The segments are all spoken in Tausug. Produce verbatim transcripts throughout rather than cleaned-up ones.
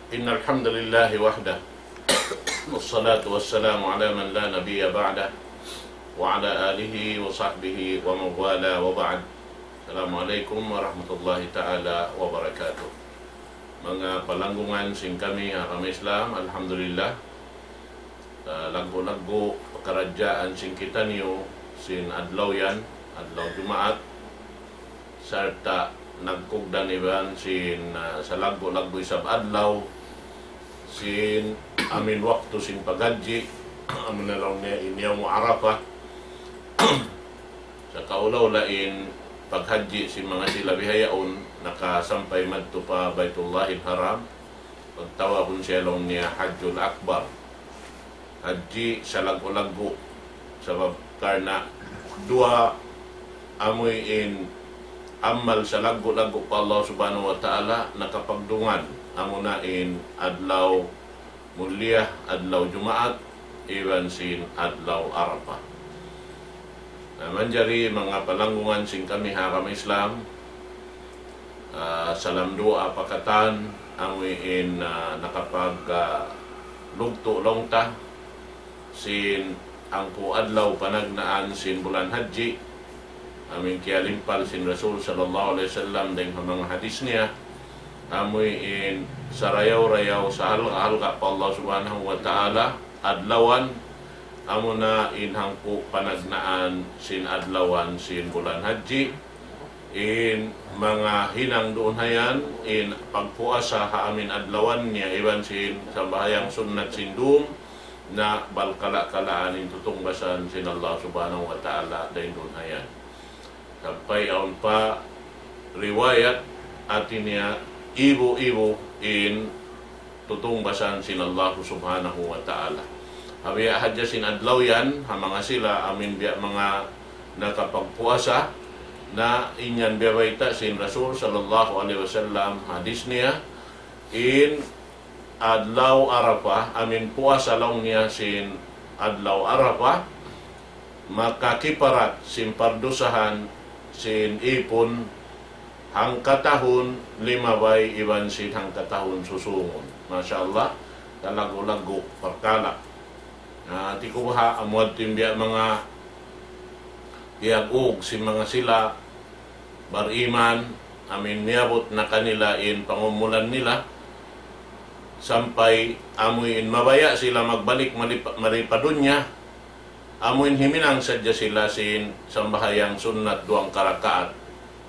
إن الحمد لله وحده، والصلاة والسلام على من لا نبي بعده، وعلى آله وصحبه ومن والاه، وبعد. السلام عليكم ورحمة الله تعالى وبركاته. Manga palanggungan sin kami ha agama Islam, alhamdulillah. Ah, laggu'-laggu' pakaradjaan sin kitaniyu sin adlaw yan, adlaw Jumaat, sarta' nagkugdan iban sin, ah, salaggu'-laggu' isab adlaw sin amin waktu sin paghajji, amun laung niya in Yawmu Arafah. Sa' kaula-ula in paghajji sin manga sila bihaun nakasampay madtu pa Baitullahil Haram, pagtawagun siya laung niya Hajjul Akbar. Hajji salaggu'-laggu'. Sabab karna' duwa amuin amal salaggu'-laggu' pa Allah Subhanahu wa Ta'ala nakapagdungan. Amuna in adlaw mulia, adlaw Jumaat, iban sin adlaw Arafah. Na, manjari manga palanggungan sin kami ha agama Islam, ah, salam duwaa pa katan, amuin, ah, nakapag, ah, lugtu' laung ta sin hangpu' adlaw panagnaan sin bulan Hajji, amuin kiyalimpal sin Rasul sallallahu alayhi wasallam dayn ha manga hadis niya, amuin sarayaw-rayaw sahalga'-halga' pa Allah Subhanahu wa Ta'ala adlawan, amuna in hangpu' panagnaan sin adlawan sin bulan Hajji, in manga hinang duun hayan, in pagpuasa ha amin adlawan niya, iban sin sambahayang sunnat sin dum, na balkala'-kalaan in tutungbasan sin Allah Subhanahu wa Ta'ala dayn duun hayan. Sampay awn pa riwayat, hati niya ibu-ibu in tutungbasan sin Allah Subhanahu wa Ta'ala. Ha biya' hadja sin adlaw yan, ha manga sila amin biya' manga nakapagpuasa, na in yan biya' bayta' sin Rasul sallallahu alayhi wasallam, hadis niya, in adlaw Arafah, amin puasa laung niya sin adlaw Arafah, makakiparat sin pardusahan sin ipun hangkatahun limabay iban sin hangkatahun susungun. Masha Allah, kalaggu'-laggu' parkala'. Na, hati ku baha' amu yadtu in biya' manga piyag-ug sin manga sila bariman, amuin miyabut na kanila in pangumulan nila, sampay amuin mabaya' sila magbalik mari pa, mari pa dunya, amuin himinang sadja sila sin sambahayang sunnat duwang karakaat,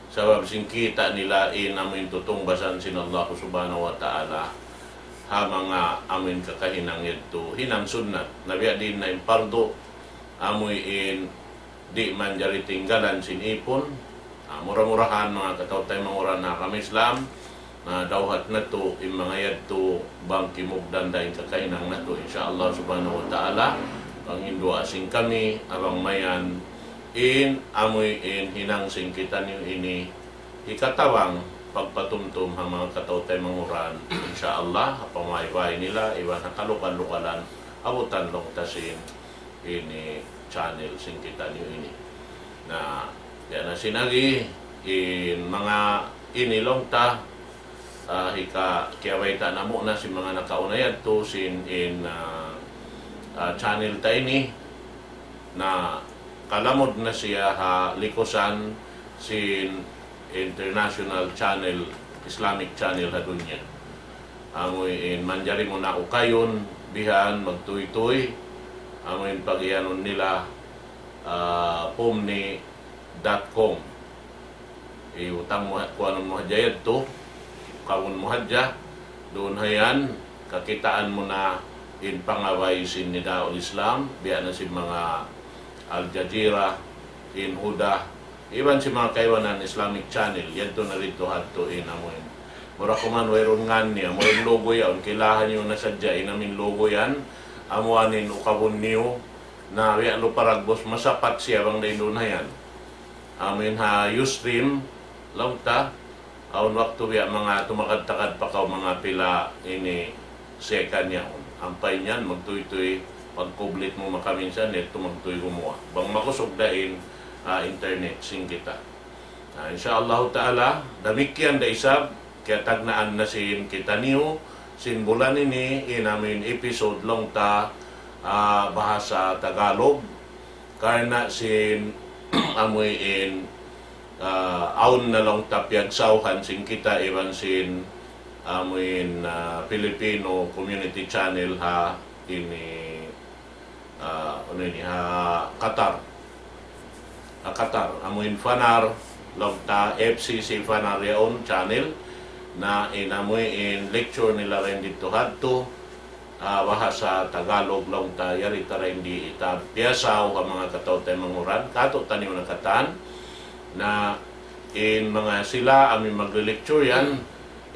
sabab sin kita' nila in amuin tutungbasan sin Allah Subhanahu wa Ta'ala ha manga amuin kakahinang yadtu, hinang sunnat. Na biya' diin na in pardu, amuin di' manjari tinggalan sin ipun. Ah, mura-murahan, manga kataw-taymanghuran ha agama Islam, na dawhat natu' in manga yadtu bang kimugdan da in kakahinang natu', insya Allah Subhanahu wa Ta'ala. Panginduwaa sin kami, bang mayan in amuin hinang sin kitaniyu ini hikatabang pagpatumtum ha manga kataw-taymanghuran, insya Allah, ha pamaybay nila, iban ha kalugal-lugalan, abutan laung ta sin ini channel sin kitaniyu ini. Na, yan na sin agi, in manga ini laung ta, ah, hika-, kiyabayta' namu' na sin manga nakauna yadtu sin in, ah, ah, channel ta ini, na kalamud na siya ha likusan sin international channel, Islamic channel ha dunya. Amuin manjari mu na ukayun, bihan, magtuytuy, amuin pagiyanun nila, ah, pumni dot com. Iutang mu, kuanun mu hadja yadtu, kawun mu hadja, duun hayan, kakitaan mu na in pangabay sin Nidaul Islam, biya' na sin manga Al Jazeera, in Huda, iban sin manga kaibanan Islamic channel, yadtu na didtu hadtu in amuin. Mura kuman wayruun ngan niya, amuin logo yaun, kilahan niyu na sadja in amuin logo yan, amuin ukabun niyu, na biya' lu paragbus masapat siya bang dayn duun hayan. Amuin ha Ustream, laung ta, awn waktu biya' manga tumakad-takad pa kaw manga pila ini second yaun. Ampa in yan, magtuytuy, pagkublit mu makaminsan, yadtu magtuy gumuwa'. Bang makusug da in, ah, internet sin kita. Na, insya Allahu Ta'ala, damikkiyan da isab, kiyatagnaan na sin kitaniyu, sin bulan ini, in amuin episode laung ta, ah, bahasa Tagalog. Karna' sin amuin, ah, awn na laung ta piyagsawhan sin kita iban sin amuin, ah, Filipino Community Channel ha ini, ah, unu ini, ha Qatar. Ha Qatar, amuin Fanar, laung ta F C C Fanar yaun channel, na in amuin lecture nila dayn didtu hadtu, ah, bahasa Tagalog laung ta yari ta dayn di ita piyasaw ha manga kataw-taymanghuran, katu' taniyu na katan, na in manga sila amuin magli-lecture yan,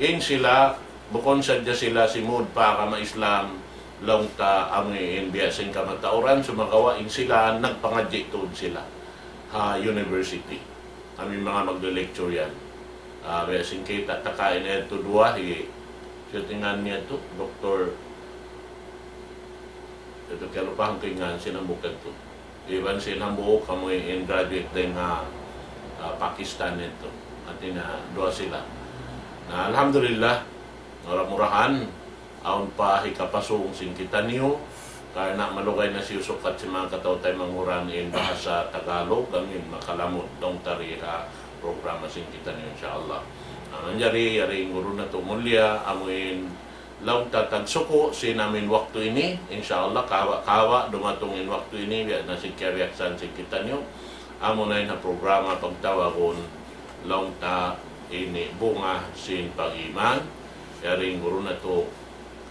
in sila, bukun sadja sila simud pa agama Islam, laung ta amuin biya' sin kamatauran, sumagawa' in sila nagpangadji' tuud sila ha university. Amuin manga magli-lecture yan. Ah, biya' sin kita' ta kaina yadtu duwa, hi, siyu in ngan niya yadtu, Doktor, yadtu kalupahan ku in ngan sin hambuuk yadtu. Iban sin hambuuk amuin graduate dayn ha, ah, Pakistan yadtu. Hati niya duwa sila. Na, alhamdulillah, mura-murahan, awn pa hikapasung sin kitaniyu, karna' malugay na siyu sukat sin manga kataw-taymanghuran in bahasa Tagalog, amuin makalamud laung ta di ha programa sin kitaniyu, insya Allah. Na, manjari, yari in guru natu' mulliya, amuin laung ta tagsuku' sin amuin waktu ini, insya Allah, kawa'-kawa' dumatung in waktu ini, biya' na sin kiyabiyaksahan sin kitaniyu, amuna in ha programa pagtawagun laung ta ini bunga sin pag-iman, yari in guru natu'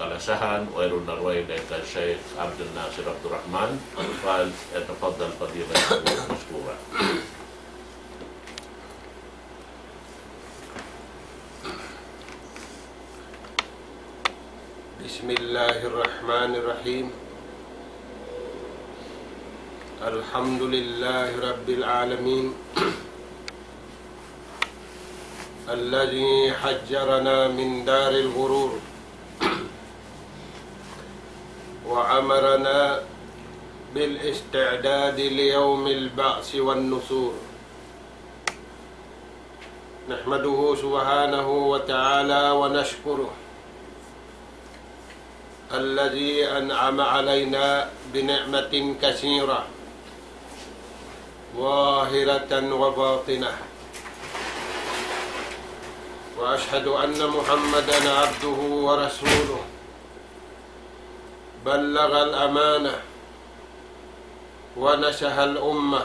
kalasahan, wayruun na dugaing dayn kan Sheikh Abdul Nasir Abdul Rahman, فليتفضل فضيلته مشكورا. بسم الله الرحمن الرحيم. الحمد لله رب العالمين. الذي حجرنا من دار الغرور وأمرنا بالاستعداد ليوم البعث والنشور. نحمده سبحانه وتعالى ونشكره الذي أنعم علينا بنعمة كثيرة ظاهرة وباطنة. وأشهد أن محمدا عبده ورسوله بلغ الأمانة ونصح الأمة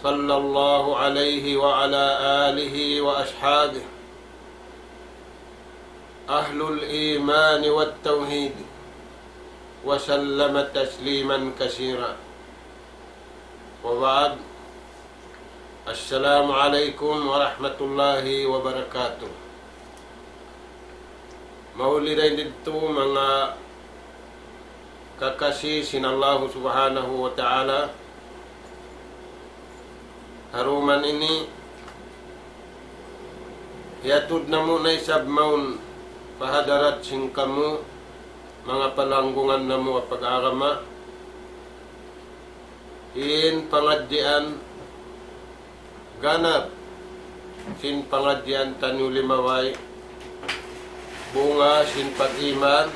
صلى الله عليه وعلى آله وأصحابه أهل الإيمان والتوحيد وسلم تسليما كثيرا. وبعد، السلام عليكم ورحمة الله وبركاته. Mauli dayn didtu manga kakasi sin Allahu Subhanahu wa Ta'ala, ha duman ini, hiyatud namu' na isab mawn pa hadarat sin kamu, manga palanggungan namu' ha pag-agama, in pangadjian ganap sin pangadjian taniyu limabay, bunga sin pag-iman,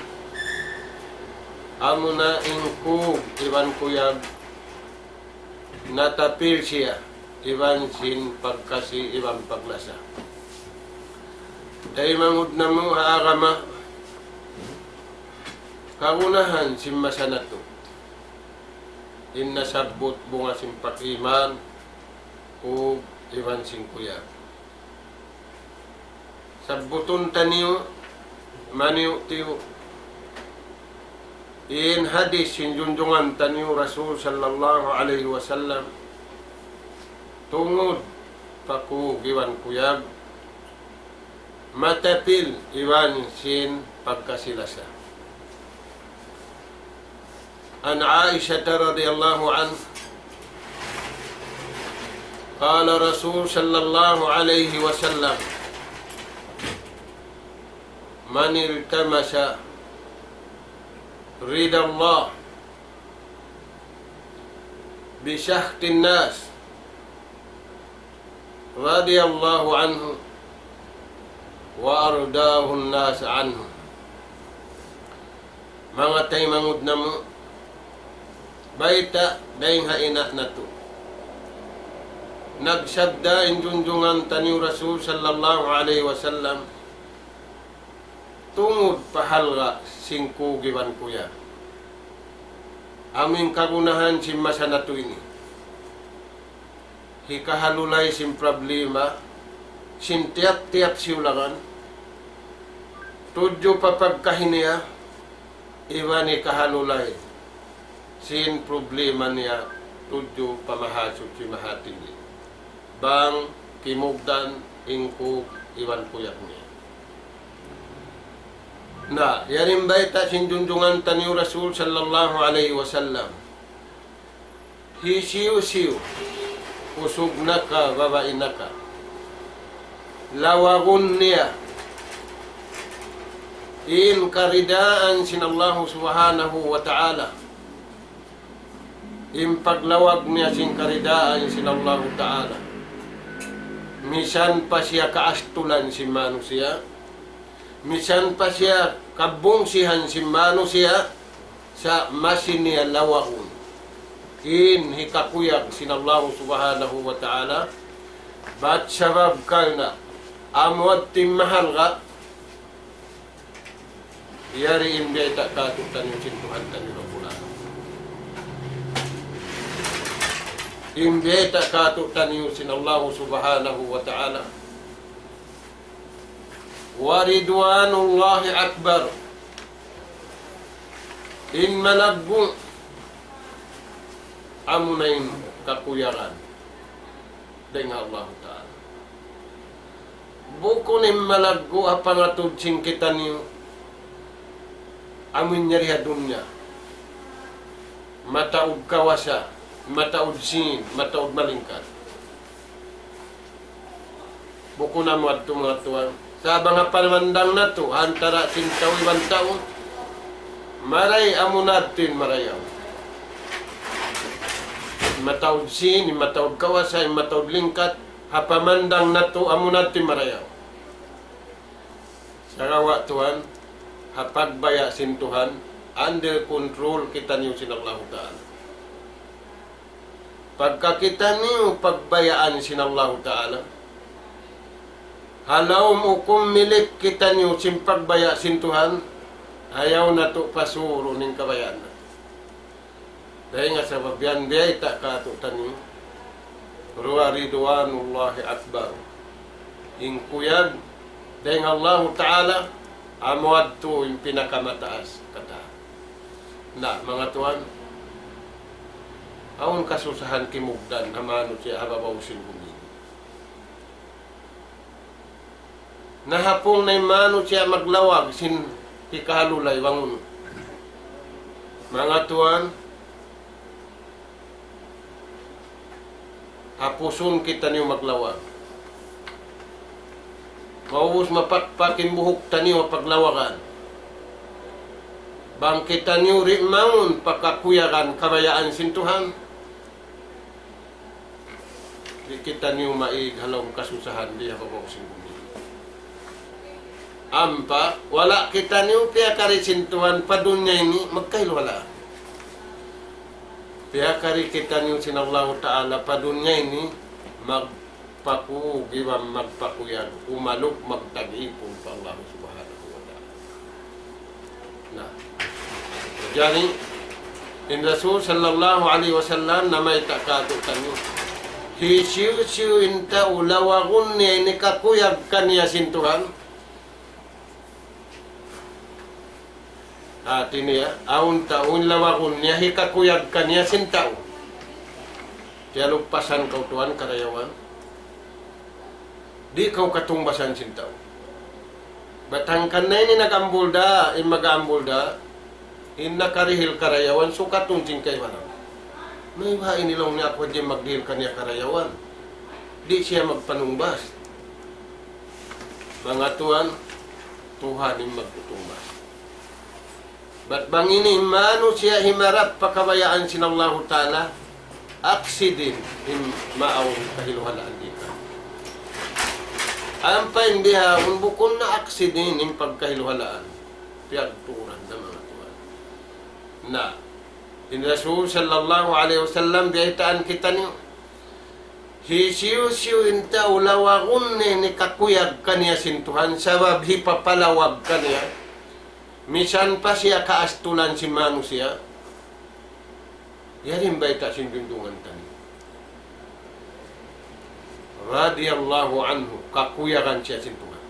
amuna in kug iban kuyag natapil siya iban sin pagkasi iban paglasa. Taymanghud namu' ha agama, kagunahan sin masa natu'. In nasabbut bunga sin pag-iman, kug iban sin kuyag. Sabbutun taniyu, maniyu-tiyu. In hadis sin junjungan taniyu Rasul sallallahu alayhi wasallam. Tungud pa kug iban kuyag. Matapil iban sin pagkasi-lasa. عن عائشة رضي الله عنها قال رسول صلى الله عليه وسلم: من التمس رضا الله بسخط الناس رضي الله عنه وأرضاه الناس عنه. Manga taymanghud namu', bayta' dayn ha ina' natu'. Nagsabda in junjungan taniyu Rasul sallallahu alayhi wasallam, tungud pa halga' sin kug iban kuyag. Amu in kagunahan sin masa natu' ini. Hikahalulay sin problema sin tiyap-tiyap siyulangan, tudju pa pagkahi niya, iban hikahalulay sin problema niya tudju pa Mahasuchi Mahatinggi. Bang kimugdan in kug iban kuyag niya. Na, yari in bayta' sin junjungan taniyu Rasul sallallahu alayhi wasallam. Hisiyu-siyu, usug na ka, babai na ka, lawagun niya in karidaan sin Allahu Subhanahu wa Ta'ala, in paglawag niya sin karidaan sin Allahu Ta'ala, misan pa siya kaastulan sin manusiya', misan pa siya kabungsihan sin manusiya', sa' masi niya lawagun in hikakuyag sin Allahu Subhanahu wa Ta'ala. Bat sabab karna' amu yadtu in mahalga', yari in biyayta' kātu'niyu sin Tuhan taniyu Rabbul Alamin. In biyayta' kātu'niyu sin Allahu Subhanahu wa Ta'ala. ورضوان الله أكبر. In malaggu' amuna in kakuyagan dayn ha Allahu Ta'ala. Bukun in malaggu' ha pangatud sin kitaniyu amun yari ha dunya. Mataud kawasa, mataud sīn, mataud malingkat. Bukun amu yadtu manga tuwan. Sa' bang ha pamandang natu', ha antara' sin tau iban tau, maray amuna yadtu in marayaw. Mataud sīn, mataud kawasa, mataud lingkat, ha pamandang natu' amuna yadtu in marayaw. Sagawa' tuwan, ha pagbaya' sin Tuhan, under control kitaniyu sin Allahu Ta'ala. Pagka kitaniyu pagbayaan sin Allahu Ta'ala, ha lawm hukum milik kitaniyu sin pagbaya' sin Tuhan, ayaw natu' pasurun in kabayaan natu'. Dayn ha sabab yan biyayta' kātu'niyu, ورضوان الله أكبر. In kuyag dayn ha Allahu Ta'ala, amu yadtu in pinakamataas katan. Na, manga tuwan, awn kasusahan kimugdan ha manusiya' ha babaw sin bumi. Nahapung na in manusiya' maglawag sin hikahalulay bang unu. Manga tuwan, hapusun kitaniyu maglawag. Maubus mapakpak in buhuk taniyu ha paglawagan. Bang kitaniyu di' mawn pa kakuyagan kabayaan sin Tuhan, di' kitaniyu maig ha lawm kasusahan di ha babaw sin bumi. Ampa, wala' kitaniyu piyakari sin Tuhan pa dunya ini, magkailu wala'. Piyakari kitaniyu sin Allahu Ta'ala pa dunya ini, magpakug iban magpakuyag, umalup magtag-ipun pa Allah Subhanahu wa Ta'ala. Na. Jari, in Rasul sallallahu alayhi wasallam namayta' kātu'niyu, hisiyu-siyu in tau lawagun niya in hikakuyag kaniya sin Tuhan. Hati niya, awn tau in lawagun niya hikakuyag kaniya sin tau. Tiyalupasan kaw tuwan karayawan. Di' kaw katungbasan sin tau. Bat hangkan na ini nag-ambul da, in mag-ambul da, in nakarihil karayawan, sukatun sin kaibanan. Mayta' ini laung niya aku hadja in magdihil kaniya karayawan. Di' siya magpanungbas. Manga tuwan, Tuhan in magtutungbas. Bat bang ini in manusiya' himarap pa kabayaan sin Allahu Ta'ala, aksidin in maawn kahiluhalaan dita. Ampa in bihaun bukun na aksidin in pagkahiluhalaan. Piyagtuuran da manga tuwan. Na, in Rasul sallallahu alayhi wasallam biyaytaan kitaniyu. Hisiyu-siyu in tau lawagun niya in kakuyag kaniya sin Tuhan, sabab hipapalawag kaniya. Misan pa siya kaastulan sin manusiya'. Yari in bayta' sin junjungan taniyu. Radiyallahu anhu, kakuyagan siya sin Tuhan.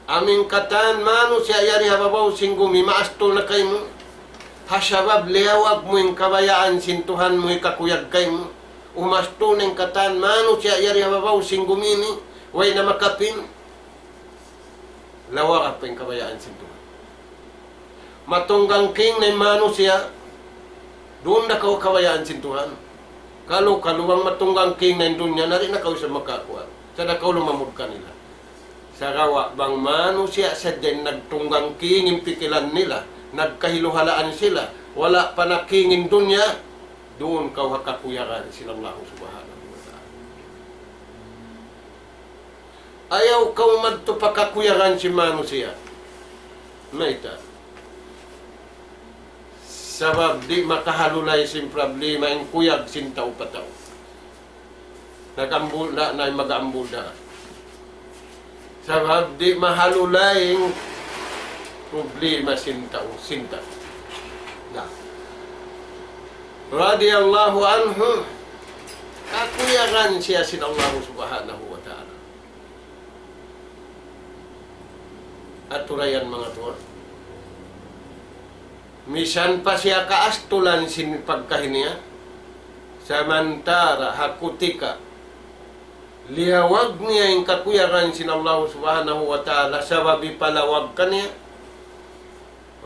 Amu in katan manusiya' yari ha babaw sin gumi, maastul na kaymu. Ha sabab liyawag mu in kabayaan sin Tuhan mu hikakuyag kaymu. Umastul na in katan manusiya' yari ha babaw sin gumi ini, way na makapin. Lawag pa in kabayaan sin Tuhan. Matunggang king na in manusiya', duun da kaw kabayaan sin Tuhan. Kalu-kalu bang matunggang king na in dunya, na di' na kaw sa makakuha. Sa' da kaw lumamud kanila. Sagawa' bang manusiya' sadja in nagtunggang king in pikilan nila, nagkahiluhalaan sila, wala' pa na king in dunya, duun kaw ha kakuyagan sin Allahu Subhanahu wa Ta'ala. Ayaw kaw madtu pa kakuyagan sin manusiya'. Mayta'? Sabab di' makahalulay sin problema in kuyag sin tau pa tau. Nag-ambul da, na mag-ambul da. Sabab di' mahalulay in problema sin tau, sin tau. Na. Radiyallahu anhu, kakuyagan siya sin Allahu Subhanahu wa Ta'ala. Aturayan manga tuwan. Misan pa siya kaastulan sin pagkahi niya, samantara' ha kutika liyawag niya in kakuyagan sin Allahu Subhanahu wa Ta'ala, sabab hipalawag kaniya,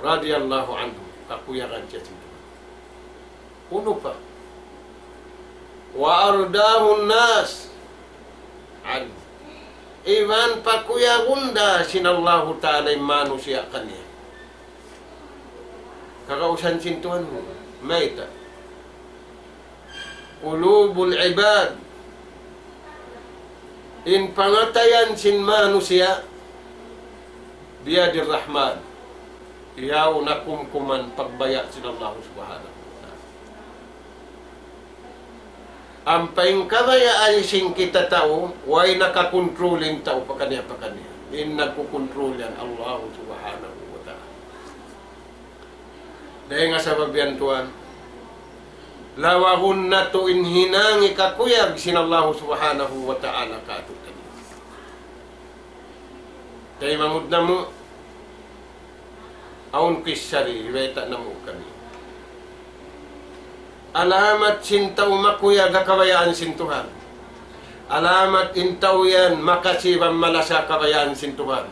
radiyallahu anhu, kakuyagan siya sin Tuhan. Unu pa? وأرضاه الناس عنه. Iban pakuyagun da sin Allahu Ta'ala in manusiya' kaniya. Kagausan sin Tuhan mu. Mayta'? قلوب العباد. In pangatayan sin manusiya' بيد الرحمن. Yaun na kumkuman pagbaya' sin Allahu Subhanahu wa Ta'ala. Ampa in kabayaan sin kita tau, way nakakontrol in tau pakaniya-pakaniya. In nagkukontrol yan, Allahu Subhanahu wa Ta'ala. Dayn ha sabab yan tuwan, lawagun natu' in hinang hikakuyag sin Allahu Subhanahu wa Ta'ala kātu'niyu. Taymanghud namu', awn kissa di, hibayta' namu' kaniyu. Alamat sin tau makuyag ha kabayaan sin Tuhan. Alamat in tau yan makasi iban malasa ha kabayaan sin Tuhan.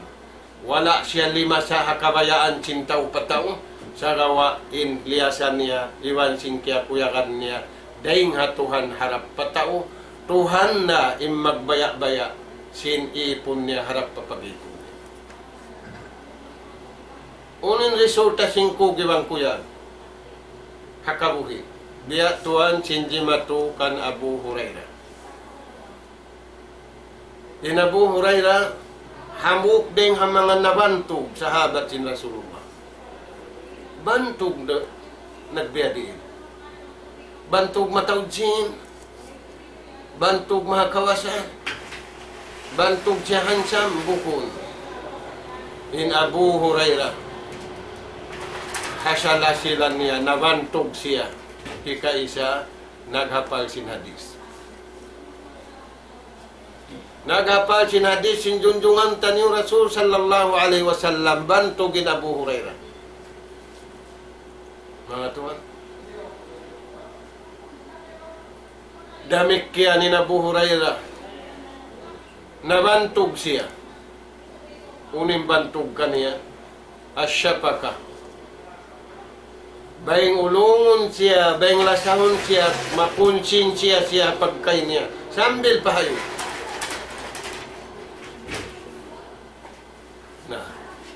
Wala' siya limasa ha kabayaan sin tau pa tau, sagawa' in liyasa niya, iban sin kiyakuyagan niya, dayn ha Tuhan harap pa tau, Tuhan na in magbaya'-baya' sin ipun niya harap pa pag-ipun niya. Unu in resulta sin kug iban kuyag ha kabuhi'? Biya' tuwan sin jimatu kan Abu Hurairah. In Abu Hurairah, hambuuk dayn ha manga nabantug sahabat sin Rasulullah. Bantug na, nagbiya' diin. Bantug mataud sin, bantug mahakawasa, bantug siya handsome, bukun. In Abu Hurairah, ha salasilan niya, nabantug siya. Hikaisa, naghapal sin hadith. Naghapal sin hadith sin junjungan taniyu Rasul sallallahu alayhi wasallam, bantug in Abu Hurairah. Manga tuwan. Damikkiyan in Abu Hurairah. Nabantug siya. Unu in bantug kaniya? Ash-shafaqah. Bayng ulungun siya, bayng lasahun siya, makunsinsiya siya pagkahi niya. Sambil pa hayu. Na,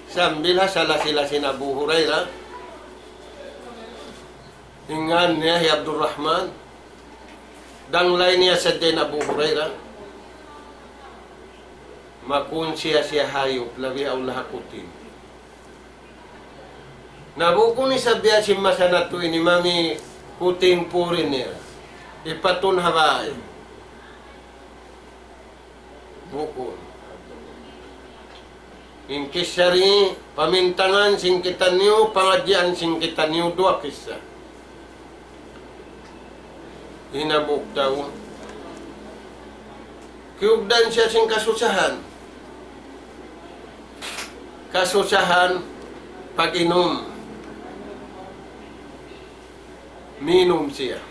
sambil ha salasilan sin Abu Hurairah. In ngan niya hi Abdurrahman. Danglay niya sadja in Abu Hurairah. Makun siya-siya hayup, labi awla ha kuting. Na bukun isab biya' sin masa natu' ini mami kuting foreigner. Ipatun ha bay. Bukun. In kissa ri, pamintangan sin kitaniyu, pangadjian sin kitaniyu, duwa kissa. In hambuuk tau, kiyugdan siya sin kasusahan. Kasusahan pag-inum. Minum siya.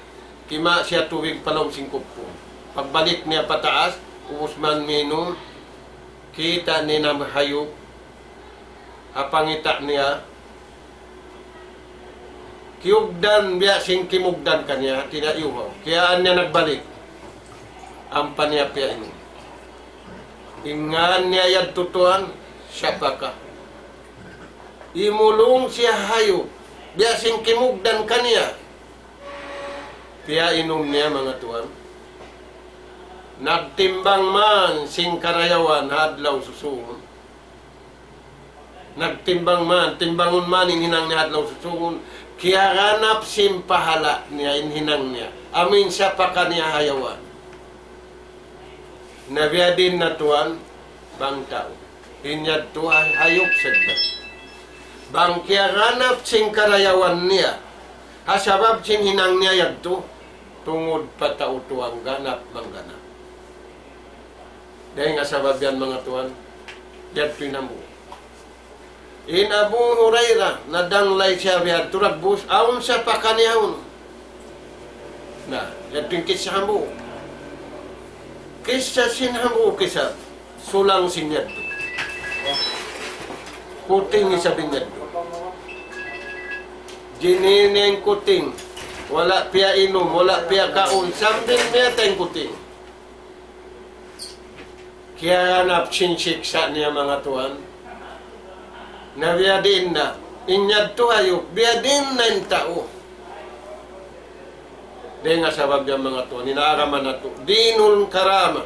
Kima' siya tubig pa lawm sin kupu'. Pagbalik niya pataas, ubus man minum, kita' niya in hayup ha pangita' niya. Kiyugdan, biya' sin kimugdan kaniya, hati niya iyuhaw. Kiyaan niya nagbalik. Ampa niya piyainum. In ngan niya yadtu tuwan, Sapaka. Imulung siya hayup, biya' sin kimugdan kaniya. Piyainum niya, manga tuwan. Nagtimbang man sin karayawan ha adlaw susungun. Nagtimbang man, timbangun man in hinang niya ha adlaw susungun. Kiyaganap sin pahala' niya in hinang niya. Amu in sapaka niya ha yawa. Na biya' diin na tuwan, bang tau. In yadtu hay-, hayup sadja. Bang kiyaganap sin karayawan niya. Ha sabab sin hinang niya yadtu. Tungud pa tau tuwan ganap mangganap. Dayn ha sabab yan, manga tuwan, yadtu in hambuuk. In Abu Hurairah, nadanglay siya biya' ha turagbus, awn sapaka niya yaun. Na, yadtu in kissa hambuuk. Kissa sin hambuuk, kissa sulang sin yadtu. Kuting isab in yadtu. Jinini in kuting. Wala' piyainum, wala' piyakaun. Sambil miyatay in kuting. Kiyaganap sin siksa' niya, manga tuwan. Na biya' diin na. In yadtu hayup, biya' diin na in tau. Dayn ha sabab yan, manga tuwan, in agama natu'. Dinul karama.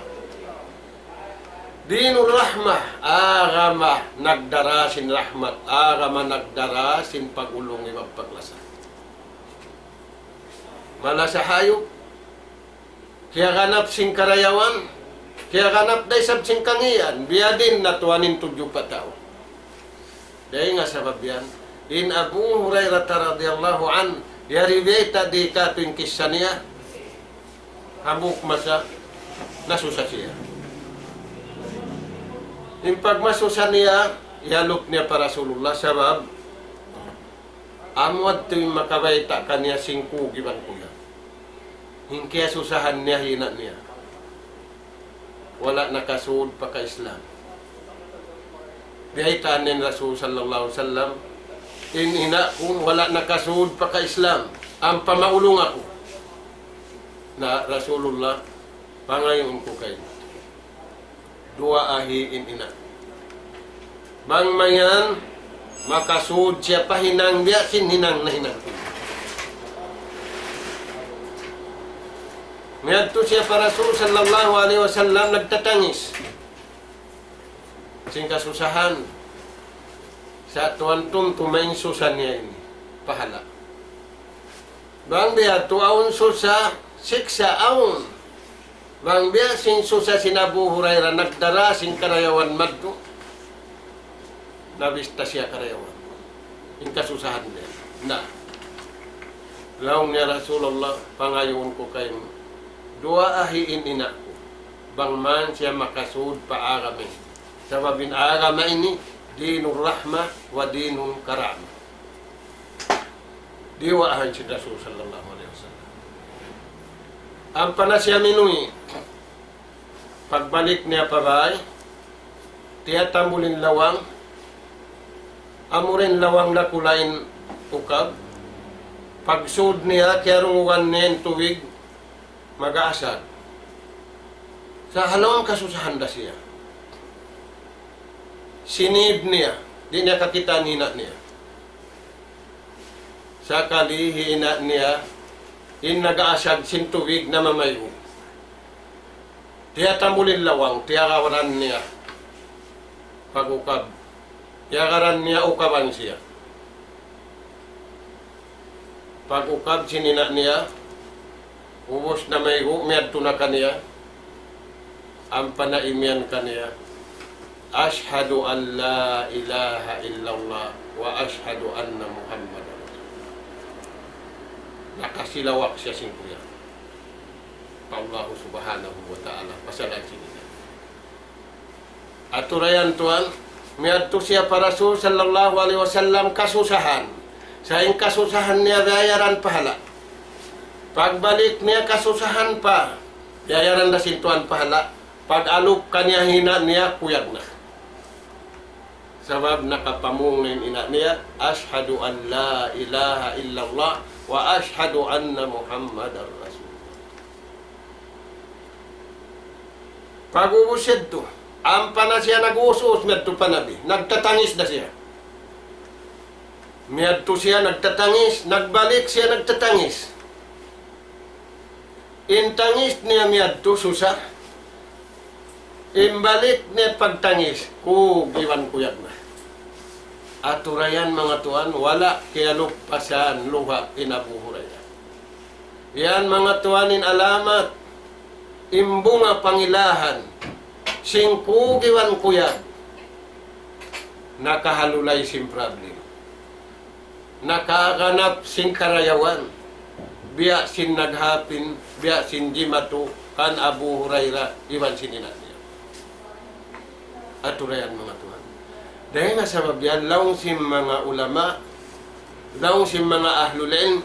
Dinul rahmah. Agama nagdara sin rahmat. Agama nagdara sin pagulung iban paglasa. Malasa hayup. Kiyaganap sin karayawan, kiyaganap da isab sin kangīan, biya' diin na tuwan in tudju pa tau. Dayn ha sabab yan, in Abu Hurairah radiyallahu anhu, yari bayta' di' katu' in kissa niya, hambuuk masa, nasusa siya. In pagmasusa niya, iyalup niya pa Rasulullah, sabab, amu yadtu in makabayta' kaniya sin kug iban kuyag. In kiyasusahan niya in ina' niya. Wala' nakasud pa ka-Islam. Biyaytaan niya in Rasul sallallahu alayhi wasallam, in ina' ku wala' nakasud pa ka-Islam. Ampa maulung aku. Na Rasulullah, pangayuun ku kaymu. Duwaahi in ina'. Bang mayan, makasud siya pa hinang biya' sin hinang nahinang. Miyadtu siya pa Rasul sallallahu alayhi wasallam nagtatangis. Sin kasusahan. Sa' tuwan tumtuma in susa niya ini. Pahala'. Bang biya' tu awn susa, siksa' awn. Bang biya' sin susa sin Abu Hurairah nagdara sin karayawan madtu. Nabista siya karayawan. In kasusahan niya. Na. Laung niya Rasulullah, pangayuun ku kaymu. Duwaahi in ina' ku. Bang man siya makasud pa agama ini. Sabab in agama ini, dinur rahmah wa dinul karamah. Diyuwaahan sin Rasul sallallahu alayhi wasallam. Ampa na siya minuwi'. Pagbalik niya pa bāy, tiyatambul in lawang, amu ra in lawang dakula' in ukab. Pagsud niya, kiyarungugan niya in tubig, mag-aasag. Sa' ha lawm kasusahan da siya. Sinib niya, di' niya kakitaan in ina' niya. Sakali hi ina' niya, in nag-aasag sin tubig namamayhu'. Tiyatambul in lawang, tiyarawaran niya. Pag-ukab. Iyagaran niya ukaban siya. Pag-ukab sin ina' niya, ubus na maygu', miyadtu na kaniya, ampa na imiyan kaniya, "Ashhadu an la ilaha illallah wa ashhadu anna Muhammadan Rasulullah." Nakasilawak siya sin kuyag pa Allahu Subhanahu wa Ta'ala, pasal sin ina'. Atura yan tuwan, miyadtu siya pa Rasul sallallahu alayhi wasallam kasusahan. Sa' in kasusahan niya bayaran pahala'. Pagbalik niya kasusahan pa, bayaran da sin tuwan pahala'. Pag-alup kaniya in ina' niya, kuyag na. Sabab nakapamung na in ina' niya, "Ashhadu an la ilaha illallah wa ashhadu anna Muhammadar Rasulullah." Pag-ubus yadtu, ampa na siya nag-uus-uus miyadtu pa Nabi. Nagtatangis da siya. Miyadtu siya nagtatangis, nagbalik siya nagtatangis. In tangis niya miyadtu susa. In balik niya pagtangis, kug iban kuyag na. Atura yan, manga tuwan, wala' kiyalupasan luha' in Abu Hurairah. Yan, manga tuwan, in alamat, in bunga pangilahan sin kug iban kuyag, nakahalulay sin problem, nakaganap sin karayawan, biya' sin naghapin, biya' sin jimatu kan Abu Hurairah iban sin ina' niya. Atura yan, manga tuwan. Dayn ha sabab yan, laung sin manga ulama, laung sin manga ahlul ilm,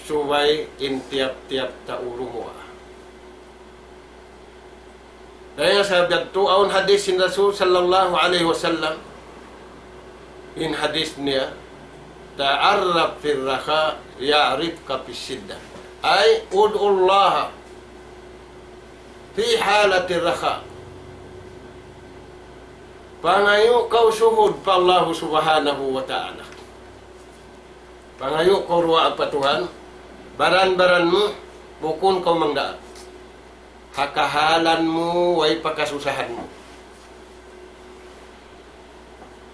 subay in tiyap-tiyap tau rumuwaa. Dayn ha sabab yadtu, awn hadith sin Rasul sallallahu alayhi wasallam, in hadith niya, "Ta'arraf fir rakha, ya'rifka fis shiddah." Ay, ud'u Allah fi halatir rakha. Pangayu' kaw suhud pa Allahu Subhanahu wa Ta'ala. Pangayu' kaw duwaa pa Tuhan, baran-baran mu, bukun kaw mangdaak. Ha kahalan mu, way pa kasusahan mu.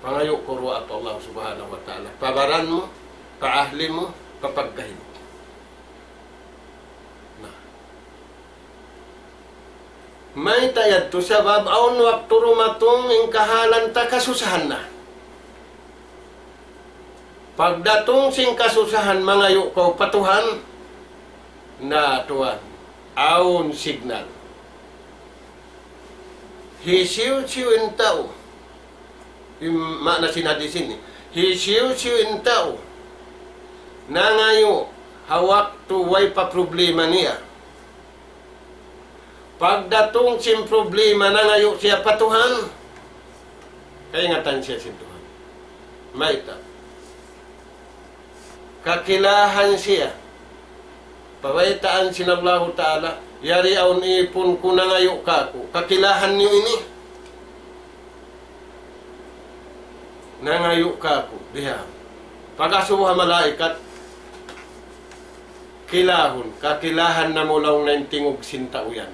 Pangayu' kaw duwaa pa Allah Subhanahu wa Ta'ala. Pa baran mu, pa ahli mu, pa pagkahi mu. Na. Mayta' yadtu? Sabab awn waktu dumatung in kahalan ta kasusahan na. Pagdatung sin kasusahan, mangayu' kaw pa Tuhan, na tuwan, awn signal. Hisiyu-siyu in tau, in maana sin hadith ini, hisiyu-siyu in tau nangayu' ha waktu way pa problema niya. Pagdatung sin problema, nangayu' siya pa Tuhan, kaingatan siya sin Tuhan. Mayta'? Kakilahan siya. Pabaytaan sin Allahu Ta'ala, "Yari awn ipun ku nangayu' kāku'. Kakilahan niyu ini?" Nangayu' kāku', biha. Pag-asubu ha malaikat, kilahun, kakilahan namu' laung niya in tingug sin tau yan.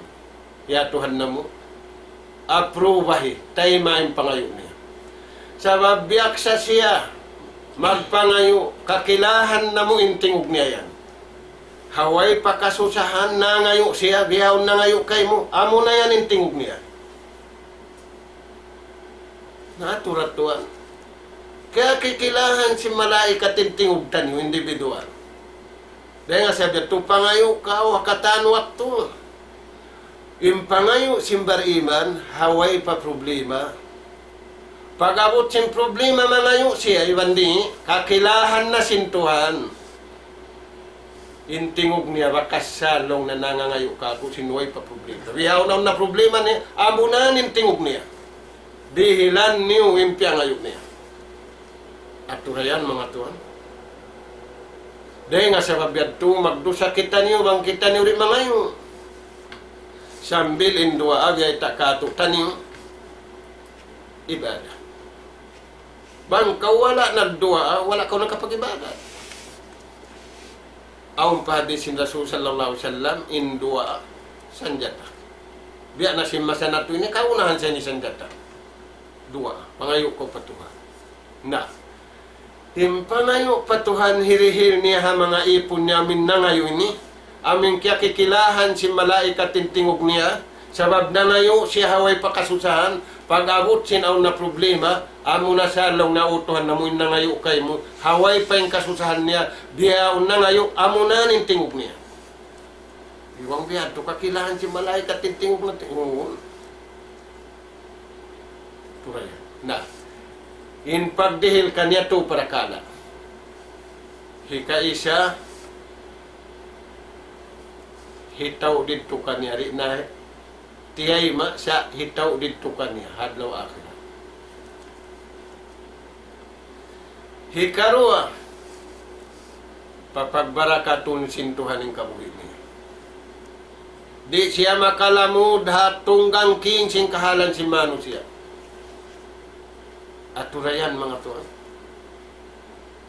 Ya Tuhan namu', aprubahi, tayma' in pangayu' niya. Sabab biyaksa siya magpangayu', kakilahan namu' in tingug niya yan. Ha way pa kasusahan, nangayu' siya, bihaun nangayu' kaymu, amuna yan in tingug niya. Na, atura tuwan. Kaya kikilahan sin malaikat in tingug taniyu, individual. Dayn ha sabab yadtu, pangayu' kaw ha katan waktu. In pangayu' sin bariman, ha way pa problema. Pag-abut sin problema, mangayu' siya, iban di', kakilahan na sin Tuhan. In tingug niya, bakas sa laung niya nangangayu' kāku' sin way pa problema. Bihaun na problema niya, amuna in tingug niya. Dihilan niyu in piyangayu' niya. Atura yan, manga tuwan. Dayn ha sabab yadtu, magdusa kitaniyu, bang kitaniyu di' mangayu'. Sambil in duwaa, biyayta' kātu'niyu, ibadat. Bang kaw wala' nagduwaa, wala' kaw nakapag-ibadat. Awn pa hadith sin Rasul sallallahu alayhi wasallam, in duwaa, sanjata. Biya' na sin masa natu' ini, kaunahan sa ini sanjata. Duwaa, pangayu' kaw pa Tuhan. Na, in pangayu' pa Tuhan, hirihil niya ha manga ipun niya amun nangayu' ini, amun kiyakilahan sin malaikat in tingug niya, sabab nangayu' siya ha way pa kasusahan, pag-abut sin awn na problema, amuna sa laung niya, "O Tuhan namu', in nangayu' kaymu, ha way pa in kasusahan niya, biya' awn nangayu', amuna in tingug niya." Iban biya' hādtu kakilahan sin malaikat in tingug niya, tingug. Tuud yan. Na, in pagdihil kaniya tū parakala'. Hikaisa, hitaud didtu kaniya, di' na tiyayma' sa' hitaud didtu kaniya, ha adlaw akhirat. Hikaruwa, papagbarakatun sin Tuhan in kabuhi' niya. Di' siya makalamud ha tunggang king sin kahalan sin manusiya'. Atura yan, manga tuwan.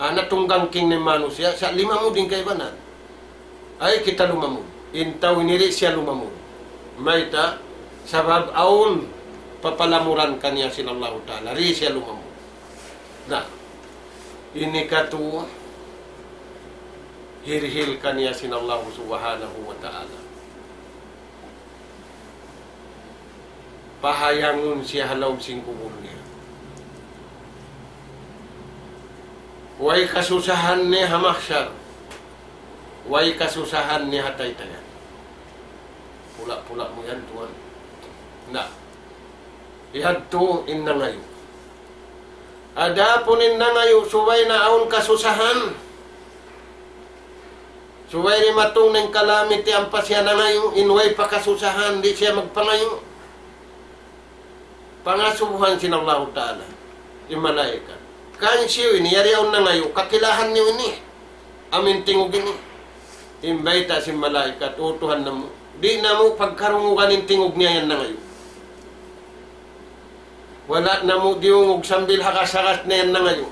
Ana tunggang king in manusiya', sa' limamud in kaibanan. Ay, kita lumamud. In tau ini di' siya lumamud. Mayta', sabab awn papalamuran kaniya sin Allahu Ta'ala. Di' siya lumamud. Na, ini katu' hirihil kaniya sin Allahu Subhanahu wa Ta'ala. Pahayangun siya ha lawm sin kubul niya. Way kasusahan niya ha mahsar. Way kasusahan niya ha taytayan. Pula-pula mu yan, tuwan. Na. Yadtu in nangayu'. Adapun in nangayu', subay na awn kasusahan. Subay dimatung in kalamiti ampa siya nangayu', in way pa kasusahan, di' siya magpangayu'. Pangasubuhan sin Allahu Ta'ala, in malaikat. Kan siyu ini, yari awn nangayu', kakilahan niyu ini. Amun tingug ini. In bayta' sin malaikat, "O Tuhan namu', di' namu' pagkarungugan in tingug niya yan nangayu'. Wala' namu' diyungug sambil hagas-hagas na yan nangayu'."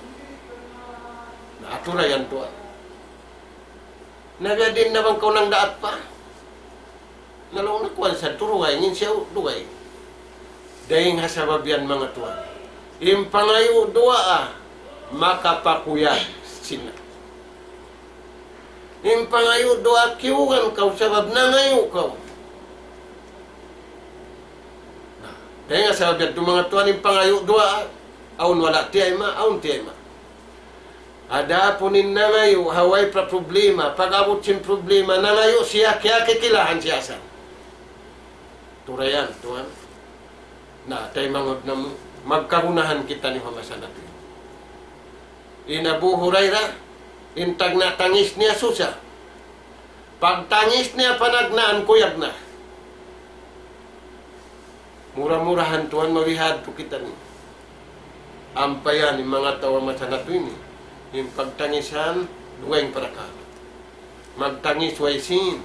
Na, atura yan tuwan. Na biya' diin na bang kaw nagdaat pa? Na laung niya kuwan sa' turugay, in siya dugaing. Dayng ha sabab yan, manga tuwan. In pangayu' duwaa, makapakuyag sin. In pangayu' duwaa kiyugan kaw sabab nangayu' kaw. Na, dayng ha sabab yan, manga tuwan, in pangayu' duwaa, awn wala' tiyayma', awn tiyayma'. Adapun in nangayu', ha way pa problema, pag-abut sin problema, nangayu' siya, kiyakilahan siya sa'. Atura yan, tuwan. Na, taymanghud namu', magkagunahan kitaniyu ha masa natu'. In Abu Hurairah, in tagna' tangis niya susa. Pagtangis niya panagnaan, kuyag na. Mura-murahan tuwan mabihadtu kitaniyu. Ampa yan in manga tau ha masa natu' ini. In pagtangisan, dugaing parakala'. Magtangis way sīn.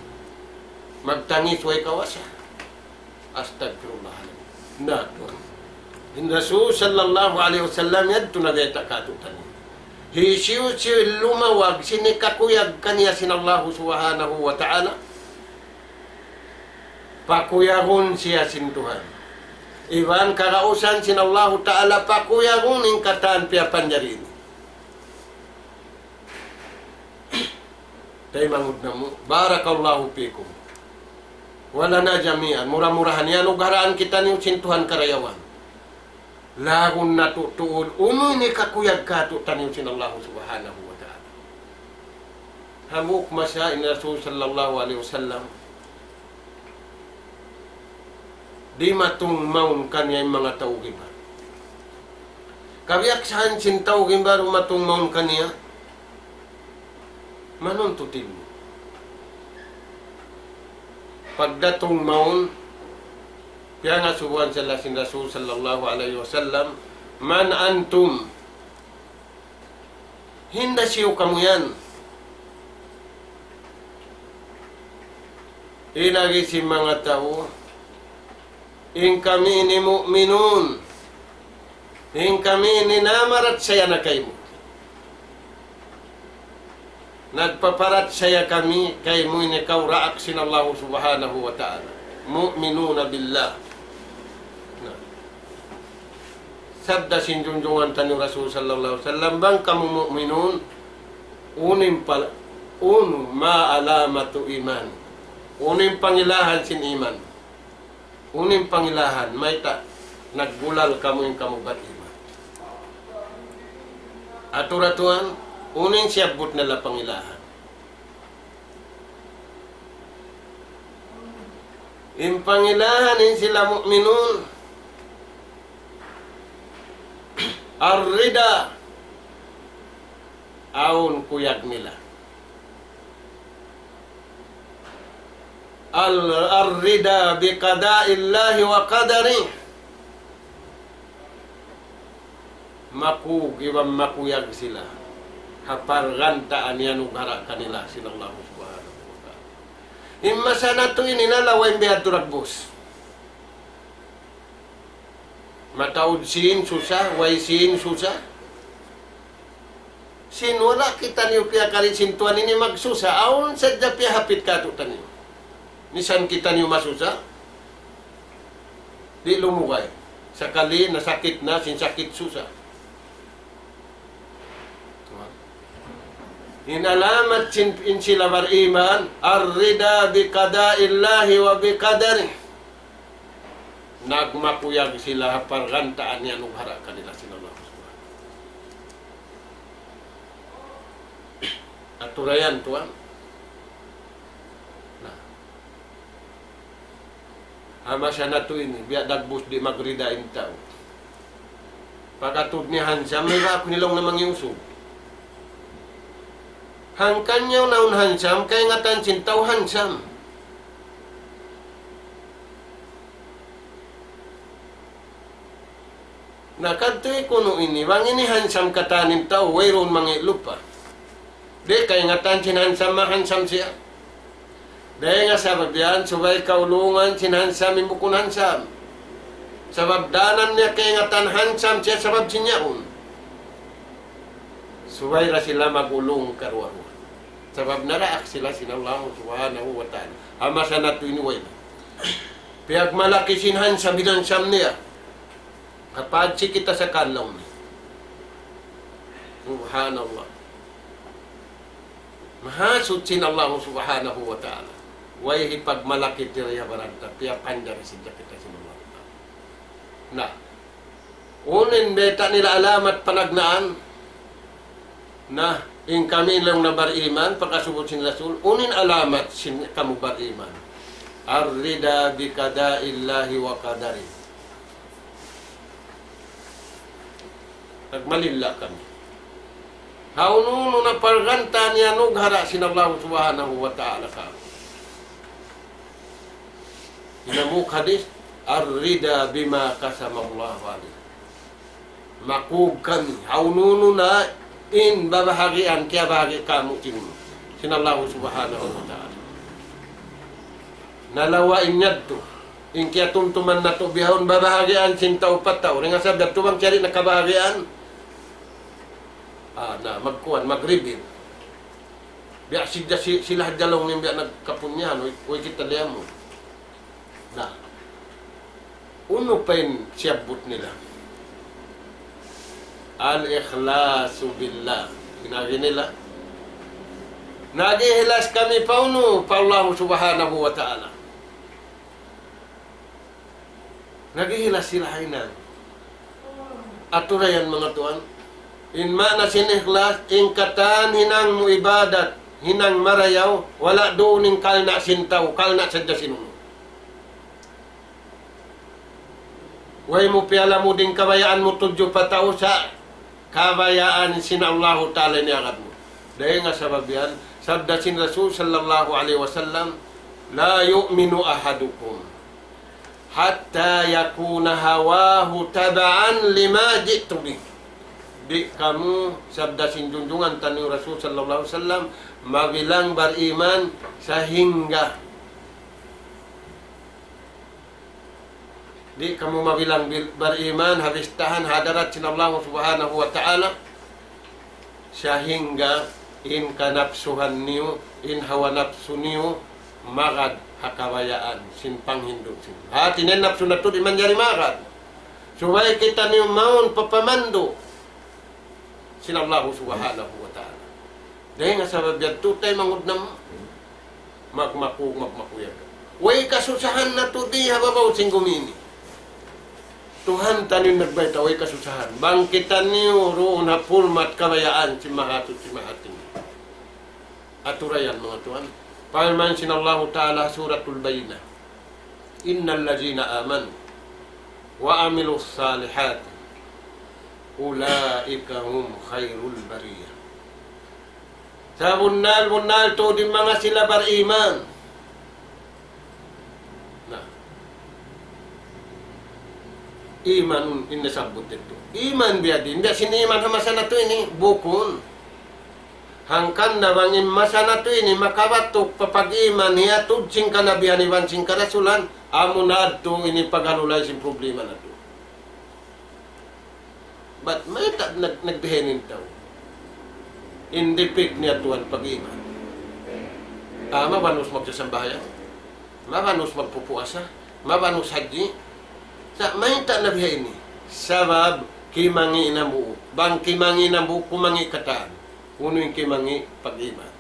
Magtangis way kawasa. Astagfirullah. Na, tuwan. In Rasul sallallahu alayhi wasallam yadtu nabayta' kātu'niyu. Hisiyu-siyu lumawag sin hikakuyag kaniya sin Allahu Subhanahu wa Ta'ala. Pakuyagun siya sin Tuhan. Iban kagausan sin Allahu Ta'ala pakuyagun in katan piyapanjari ini. Taymanghud namu', barakallahu fikum. Wa lana jami'an, mura-murahan yan, anugaraan kitaniyu sin Tuhan karayawan. Laung natu' tuud, unu in hikakuyag kātu'niyu sin Allahu Subhanahu wa Ta'ala. Hambuuk masa in Rasul sallallahu alayhi wasallam, dimatung mawn kaniya in manga tau gimbar. Kabiyaksahan sin tau gimbar, dimatung mawn kaniya, manuntut ilmu'. Pagdatung mawn, piyangasubuhan sila sin Rasul sallallahu alayhi wasallam, "Man antum?" Hinda siyu kamu yan? In agi sin manga tau, in kami ini mu'minun. In kami ini namarachaya na kaymu. Nagpaparachaya kami kaymu ini kaw daak sin Allahu Subhanahu wa Ta'ala. Mu'minuna billah. Na. Sabda sin junjungan taniyu Rasul sallallahu alayhi wasallam, bang kamu mu'minun, unu in pal-, unu ma alamatu iman. Unu in pangilahan sin iman. Unu in pangilahan, mayta' naggulal kamu in kamu bariman. Atura tuwan, unu in siyabbut nila pangilahan. In pangilahan in sila mu'minun, ar-rida, awn kuyag nila. Al-, ar-rida bi qada'illahi wa qadari. Makug iban makuyag sila ha pargantaan iyanugara' kanila sin Allahu Subhanahu wa Ta'ala. In masa natu' ini na lawa in biya' ha duragbus. Mataud sin susa, way sin susa. Sin wala' kitaniyu piyakari sin Tuhan ini magsusa, awn sadja piyahapit kātu'niyu. Misan kitaniyu masusa, di' lumugay. Sakali nasakit na, sin sakit susa. In alamat sin, in sila bariman, ar-rida bi qada'illahi wa bi qadarih. Nagmakuyag sila ha pargantaan iyanugara' kanila sin Allah Subhanahu. Atura yan, tuwan. Na. Ha masa natu' ini, biya' dagbus di' magrida in tau. Pag-atud niya handsome, mayta' aku nilaung na mangi' usug. Hangkan niya naun handsome, kaingatan sin tau handsome. Na kadtu kunu' ini, bang ini handsome katan in tau, wayruun mangi' lupa. Di' kaingatan sin handsome, mahandsome siya. Dayn ha sabab yan, subay kaulungan sin handsome in bukun handsome. Sabab danan niya kaingatan handsome siya sabab sin yaun. Subay da sila mag-ulung karuwa-ruwa. Sabab naraak sila sin Allah Subhanahu wa Ta'ala. Ha masa natu' ini way na. Piyagmalaki sin handsome, in handsome niya. Kapag sikita sa kanlaw niya. Subhanallah. Mahasuchi in Allah Subhanahu wa Ta'ala. Way hipagmalaki diri ha baran ta, piyapanjari sin kita sin Allah Ta'ala. Na, unu in bayta' nila alamat panagnaan? Na, in kami laung na bariman, pagkasubut sin Rasul, unu in alamat sin kamu bariman? Ar-rida bi qada'illahi wa qadari. Nagmalilla kami. Ha unu-unu na pargantaan iyanugara' sin Allah Subhanahu wa Ta'ala kāmu'. Hinamuk hadis, ar-rida bima qasamallahu alayna. Makug kami, ha unu-unu na in babahagian, kiyabahagi' kāmu' sin, sin Allah Subhanahu wa Ta'ala. Nalawa' in yadtu, in kiyatumtuman natu' bihaun babahagian sin tau pa tau. Dayn ha sabab yadtu bang kiyari' na kabahagian, ah, na, magkuwan, mag-reveal. Biya' sila, si-, sila hadja laung niya biya' nagkapunyahan, uy, uy, kita liyamun. Na. Unu pa in siyabbut nila? Al-ikhlasu billah. In agi nila, nag-ikhlas kami pa unu, pa Allah Subhanahu wa Ta'ala. Nag-ikhlas sila hinang. Atura yan, manga tuwan. In maana sin ikhlas, in katan hinang mu ibadat, hinang marayaw, wala' duun in kalna' sin tau, kalna' sadja sin unu. Way mu piyalamud in kabayaan mu tudju pa tau sa' kabayaan sin Allahu Ta'ala in iyagad mu. Dayn ha sabab yan, sabda sin Rasul sallallahu alayhi wasallam, لا يؤمن أحدكم حتى يكون هواه تبعا لما جئت به. Di' kamu, sabda sin junjungan taniyu Rasul sallallahu alayhi wasallam, mabilang bariman sahingga Di' kamu mabilang bil-, bariman ha bistahan ha hadarat sin Allah Subhanahu wa Ta'ala, sahingga in kanapsuhan niyu, in hawa napsu niyu, magad ha kabayaan sin panghindu' sin. Hati niya in napsu natu' di' manjari magad. Subay kitaniyu mawn pa pamandu' sin Allahu Subhanahu wa Ta'ala. Dayn ha sabab yadtu, taymanghud namu', magmaku-, magmakuyag. Way kasusahan natu' di ha babaw sin gumi ini. Tuhan taniyu in nagbayta', way kasusahan. Bang kitaniyu duun ha pulmat kabayaan sin Mahasuchi Mahatinggi. Aturayan, manga tuwan. Parman sin Allahu Ta'ala, Suratul Bayyinah. إن الذين آمنوا وعملوا الصالحات أولئك هم خير البرية. Sabunnal-bunnal tuud in manga sila bariman. Na. Iman in nasabbut yadtu. Iman biya' diin. Biya' sin iman ha masa natu' ini. Bukun. Hangkan na bang in masa natu' ini makabatuk pa pag-iman hiyatud sin kanabihan iban sin karasulan, amu na yadtu in paghalulay sin problema natu'. Bat mayta' nag-, nagbihaini in tau? In dipik niya tuwan pag-iman. Ah, mabanus magsasambahayang. Mabanus magpupuasa. Mabanus hajji. Sa' mayta' na bihaini? Sabab kimangi' in hambuuk. Bang kimangi' in hambuuk, kumangi' katan. Unu in kimangi'? Pag-iman.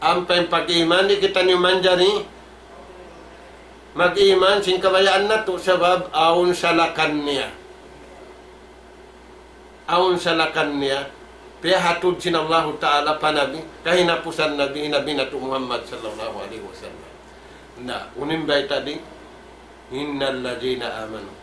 Ampa in pag-iman, di' kitaniyu manjari mag-iman sin kabayaan natu', sabab awn salakan niya. Awn salakan niya, piyahatud sin Allahu Ta'ala pa Nabi, kahinapusan Nabi, Nabi natu' Muhammad sallallahu alayhi wasallam. Na, unu in bayta' di? إن الذين آمنوا.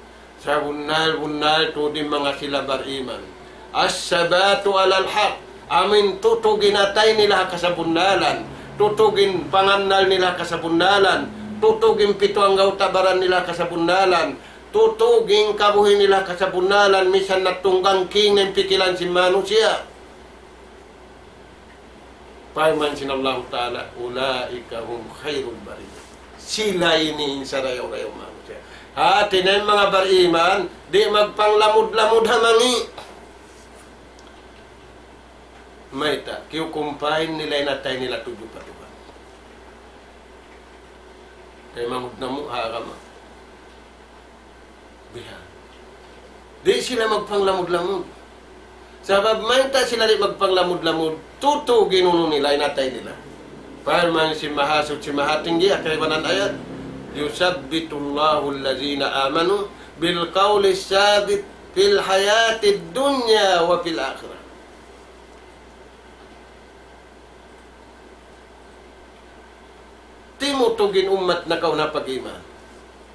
Sabunnal-bunnal tuud in manga sila bariman. الثبات على الحق. Amuin tutug in atay nila ha kasabunnalan. Tutug in pangannal nila ha kasabunnalan. Tutug in pitu anggawta' baran nila ha kasabunnalan. Tutug in kabuhi' nila ha kasabunnalan, misan na tunggang king na in pikilan sin manusiya'. Parman sin Allahu Ta'ala, أولئك هم خير البرية. Sila ini in sarayaw-rayaw manusiya'. Hati niya in manga bariman, di' magpanglamud-lamud ha mangi'. Mayta', kiyukumpahin nila in atay nila tudju pa Tuhan. Taymanghud namu' ha agama. Bihan. Di' sila magpanglamud-lamud. Sabab mayta' sila di' magpanglamud-lamud, tutug in unu nila, in atay nila. Parman sin Mahasuchi Mahatinggi, ha kaibanan ayat, يثبت الله الذين آمنوا بالقول الثابت في الحياة الدنيا وفي الآخرة. Timutug in ummat nakauna pag-iman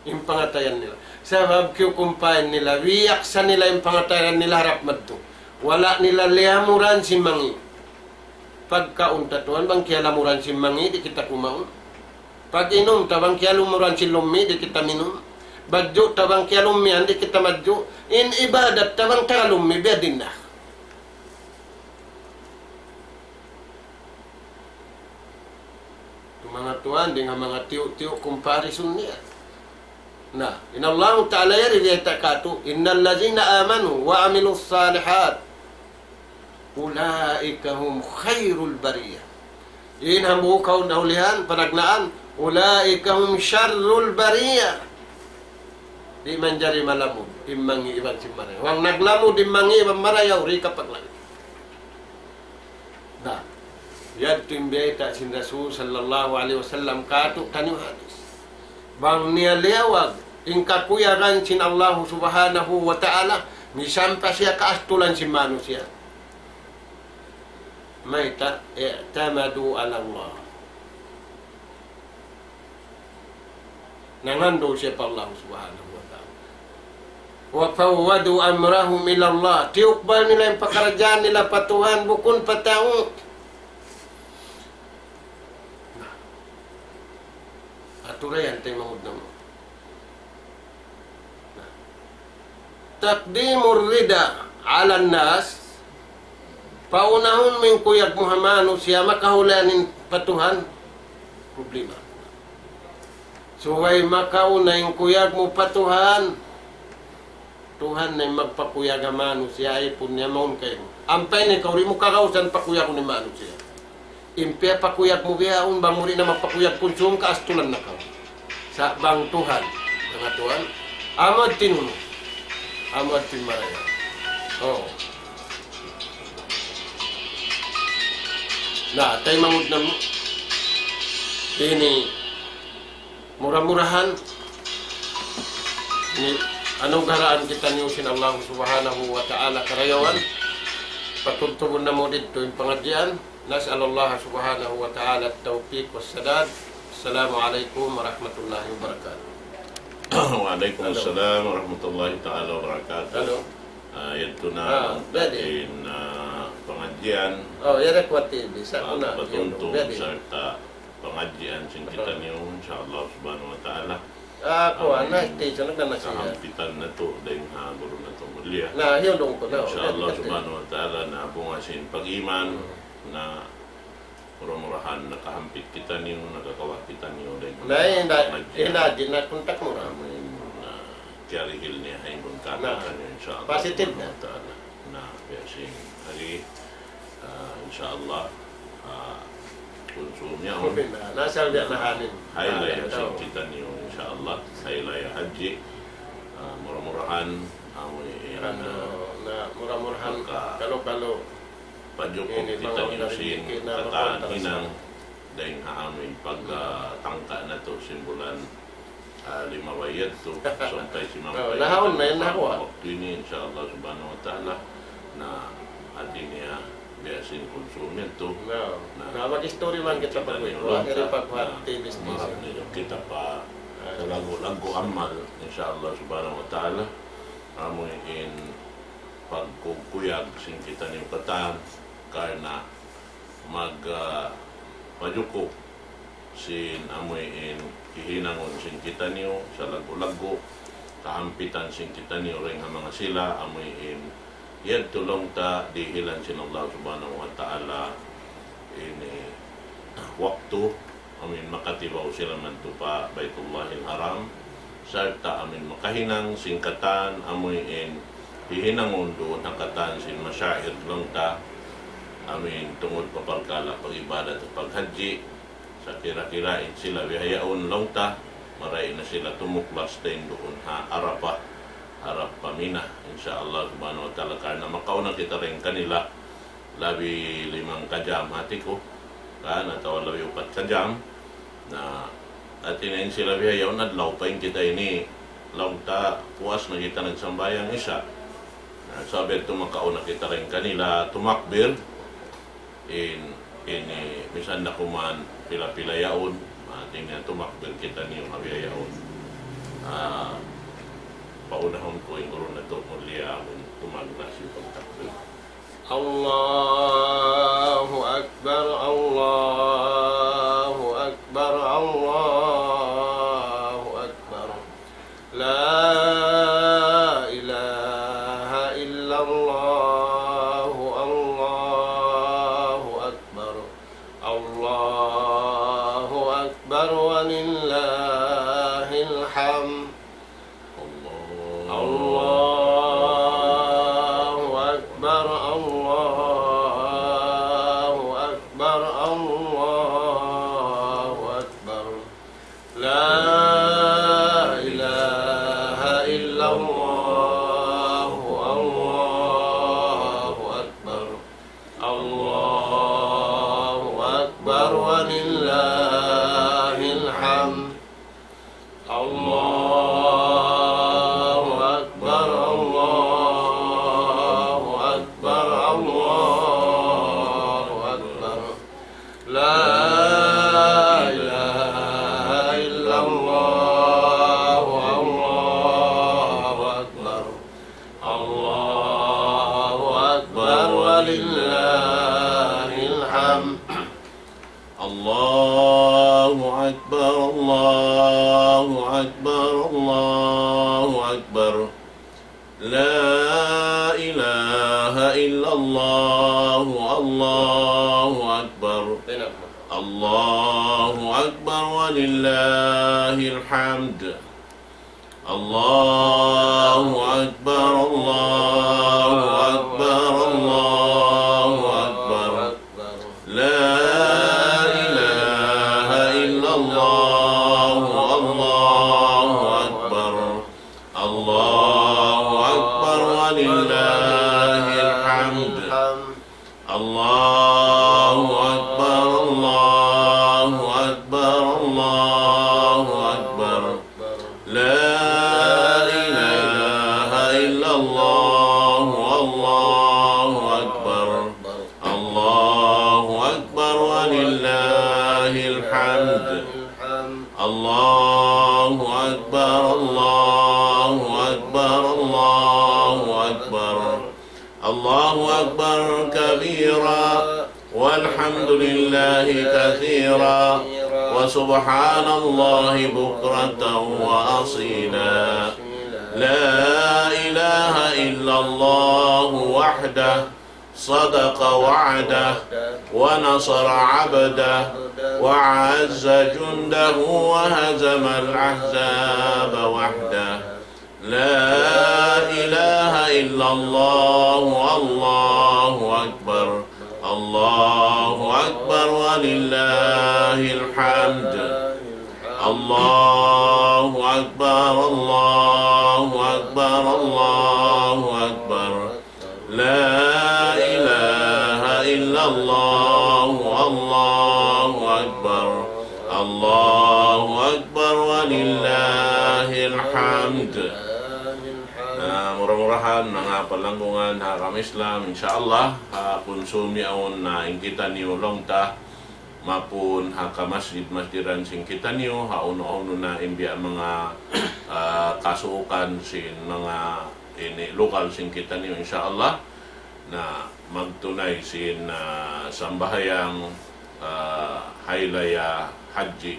in pangatayan nila. Sabab kiyukumpahin nila, biyaksa nila in pangatayan nila harap madtu. Wala' nila liyamuran sin mangi'. Pagkaun ta tuwan, bang kiyalamuran sin mangi', di' kita kumaun. Pag-inum ta, bang kiyalamuran sin lummi', di' kita minum. Badju' ta, bang kiyalummihan, di' kita madju'. In ibadat ta, bang taga lummi', biya' diin na. Tu manga tuwan, dayn ha manga tiyu'-tiyu' kumparisun niya. Na, in Allahu Ta'ala yari biyayta' katu', إن الذين آمنوا وعملوا الصالحات أولئك هم خير البرية. In hambuuk kaw nahulihan, panagnaan, أولئك هم شر البرية. Di' manjari malamud in mangi' iban sin marayaw. Bang naglamud in mangi' iban marayaw, di' kapaglangit. Na, yadtu in biyayta' sin Rasul sallallahu alayhi wasallam katu' taniyu hadis. Bang niya liyawag in kakuyagan sin Allahu Subhanahu wa Ta'ala, misan pa siya kaastulan sin manusiya'. Mayta', اعتمدوا على الله. Nangandul siya pa Allah Subhanahu wa Ta'ala. وفوضوا أمرهم إلى الله. Tiyukbal nila in pakaradjaan nila pa Tuhan, bukun pa tau. Na. Aturayan taymanghud namu'. Na. تقديم الرضا على الناس. Paunahun mu in kuyag mu ha manusiya', makahulayan in pa Tuhan. Problema. Subay makauna in kuyag mu pa Tuhan. Tuhan na in magpakuyag ha manusiya', ipun niya mawn kaymu. Ampa ini kaw di' mu kagausan pakuyagun in manusiya'. In piyapakuyag mu bihaun, bang mu di' na mapakuyag kunsum, kaastulan na kaw. Sa' bang Tuhan, manga tuwan, Amu in tinunu'. Amu in marayaw. Oh. Na, taymanghud namu'. Ini mura-murahan ini anugaraan kitaniyu sin Allah Subhanahu wa Ta'ala karayawan. Patubtubun namu' didtu in pangadjian. نسأل الله سبحانه وتعالى التوفيق والسداد. السلام عليكم ورحمة الله وبركاته. وعليكم السلام ورحمة الله تعالى وبركاته. Hello. Ah, yadtu na in pangadjian. Oh, yari kuwati bisa. Ah, patuntung sarta' pangadjian sin kitaniyu, insya Allah subhanahu wa ta'ala. Ah, kuwan na, station na na siya. Kahampitan natu', dayn ha guru natu' mulia. Na, hiyulung ku na. Insya Allah subhanahu wa ta'ala, na bunga sin pag-iman, na mura-murahan nakahampit kitaniyu, nakakawa' kitaniyu dayn ha pangadjian. Na, ina-, ina-, di na kontak mu na. Amin. Na, kiyarihil niya ha imun katan kitaniyu, insya Allah subhanahu wa ta'ala. Na, biya' sin hari, ah, insya Allah, ah, kunsum yaun. Na, asal biya' na hanin. Hari Raya sin kitaniyu, insya Allah. Hari Raya Hajji. Ah, mura-murahan, amu in, ah, na, mura-murahan, kalu-kalu. Pajukup kitaniyu sin katan hinang dayn ha amu in pag, ah, tangka natu' sin bulan, ah, lima bayad tu, sampay simampay na, nahaun na yan, nahawa. Waktu ini, insya Allah subhanahu wa ta'ala, na hati niya, biya' sin kunsum yadtu. Na, na, mag-istori man kita pag-uwi. Wala' na pagbuhat, na, T V station. Maharap na kita pa, ah, sa laggu'-laggu' amal, insya Allah subhanahu wa ta'ala. Amu in pagkukuyag sin kitaniyu katan, karna' mag, ah, pajukup sin amu in hihinangun sin kitaniyu sa laggu'-laggu', kahampitan sin kitaniyu dayn ha manga sila, amu in yadtu laung ta dihilan sin Allah subhanahu wa ta'ala ini waktu, amu in makatibaw sila madtu pa Baytullahil Haram, sarta' amu in makahinang sin katan, amu in hihinangun duun ha katan sin masyair laung ta, amu in tungud pa parkala' pag-ibadat at paghajji, sa kira-kira in sila bihaun laung ta, marayaw na sila tumuklas dayn duun ha Arafah, harap pa Mina, insya Allah subhanahu wa ta'ala, karna' makauna kita dayn kanila, labi limangka jam hati ku, kan, atawa labi upat ka jam. Na, hati niya in sila bihaun adlaw pa in kita ini, laung ta puas na kita nagsambahayang Isya. Na, sabab yadtu makauna kita dayn kanila tumakbir, in, ini, misan da kuman pila-pila yaun, hati niya tumakbir kitaniyu ha bihaun. Ah, paunahun ku in guru natu' mulia, amun tumagna' sin pagtakbir. الله أكبر، الله أكبر، الله أكبر. لا إله إلا الله، الله أكبر. الله أكبر ولله الحمد. الله أكبر، الله أكبر، الله أكبر. لا إله إلا الله، الله أكبر. الله أكبر ولله الحمد. الله أكبر، الله أكبر، الله أكبر. لا إله إلا الله، الله أكبر. الله أكبر ولله الحمد. الله أكبر، الله أكبر، الله أكبر. لا إله إلا الله، الله أكبر. الله أكبر ولله الحمد. الله أكبر، الله أكبر، الله أكبر. لا إله إلا الله، الله أكبر. الحمد. الله أكبر، الله أكبر، الله أكبر. لا إله إلا الله، الله أكبر. الله أكبر ولله الحمد. الله أكبر، الله أكبر، الله أكبر. الله أكبر كبيرا، والحمد لله كثيرا، وسبحان الله بكرة وأصيلا. لا إله إلا الله وحده، صدق وعده، ونصر عبده، وعز جنده، وهزم الأحزاب وحده. لا إله إلا الله، الله أكبر، الله أكبر ولله الحمد. الله أكبر، الله أكبر، الله أكبر. لا إله إلا الله، الله أكبر، الله أكبر ولله الحمد. Na, mura-murahan, manga palanggungan ha agama Islam, insya Allah, ha kunsum yaun na in kitaniyu laung ta, maapun ha kamasjid-masjidan sin kitaniyu, ha unu-unu na in biya' manga, ah, kasuukan sin manga ini lugal sin kitaniyu, insya Allah, na magtunay sin, ah, sambahayang, ah, Haylaya Hajji.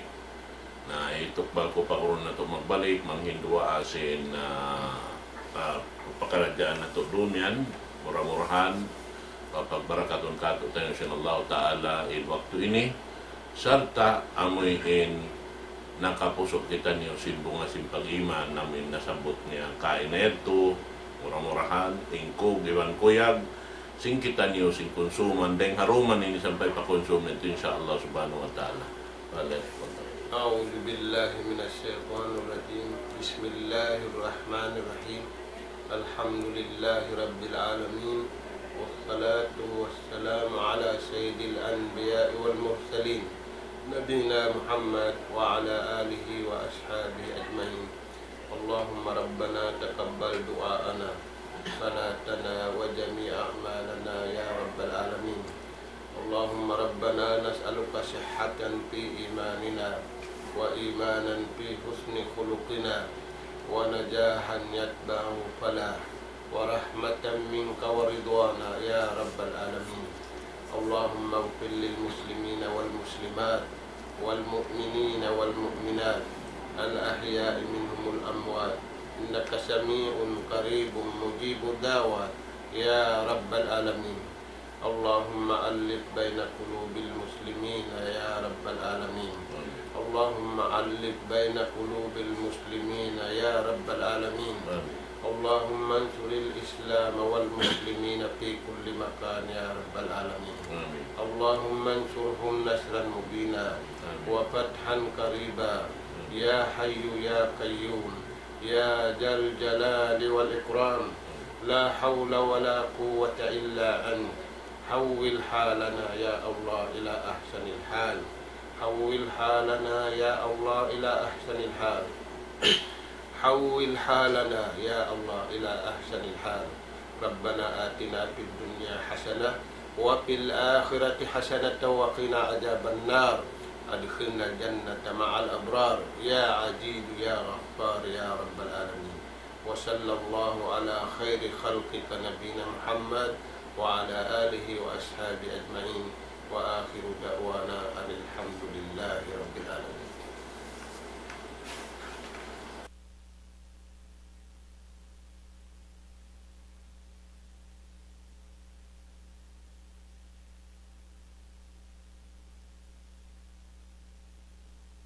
Na, itukbal ku pa guru natu' magbalik, manghinduwaa sin, ah, ah, pakaradjaan natu' duun yan. Mura-murahan, papagbarakatun katu'taniyu sin Allahu Ta'ala in waktu ini, sarta' amuin nakapusuk kitaniyu sin bunga sin pag-iman, amuin nasabbut niya kaina yadtu, mura-murahan, in kug iban kuyag, sin kitaniyu, sin kunsuman, dayng ha duman ini sampay pa kunsuman yadtu, insya Allah subhanahu wa ta'ala. Balik. أعوذ بالله من الشيطان الرجيم. بسم الله الرحمن الرحيم. الحمد لله رب العالمين، والصلاة والسلام على سيد الأنبياء والمرسلين، نبينا محمد وعلى آله وأصحابه أجمعين. اللهم ربنا تقبل دعاءنا، صلاتنا وجميع أعمالنا يا رب العالمين. اللهم ربنا نسألك صحة في إيماننا، وإيمانا في حسن خلقنا، ونجاحا يتبعه فلاح، ورحمة منك ورضوانا يا رب العالمين. اللهم اغفر للمسلمين والمسلمات، والمؤمنين والمؤمنات، الأحياء منهم والأموات، إنك سميع قريب مجيب الدعوات يا رب العالمين. اللهم ألف بين قلوب المسلمين يا رب العالمين. اللهم ألف بين قلوب المسلمين يا رب العالمين. اللهم انصر الإسلام والمسلمين في كل مكان يا رب العالمين. اللهم انصرهم نصرا مبينا وفتحا قريبا. يا حي يا قيوم، يا ذا الجلال والإكرام، لا حول ولا قوة إلا أنت. حول حالنا يا الله إلى أحسن الحال. حول حالنا يا الله إلى أحسن الحال. حول حالنا يا الله إلى أحسن الحال. ربنا آتنا في الدنيا حسنة وفي الآخرة حسنة وقنا عذاب النار. أدخلنا الجنة مع الأبرار يا عزيز يا غفار يا رب العالمين. وصلى الله على خير خلقك نبينا محمد وعلى آله وأصحابه أجمعين. وآخر دعوانا أن الحمد لله رب العالمين.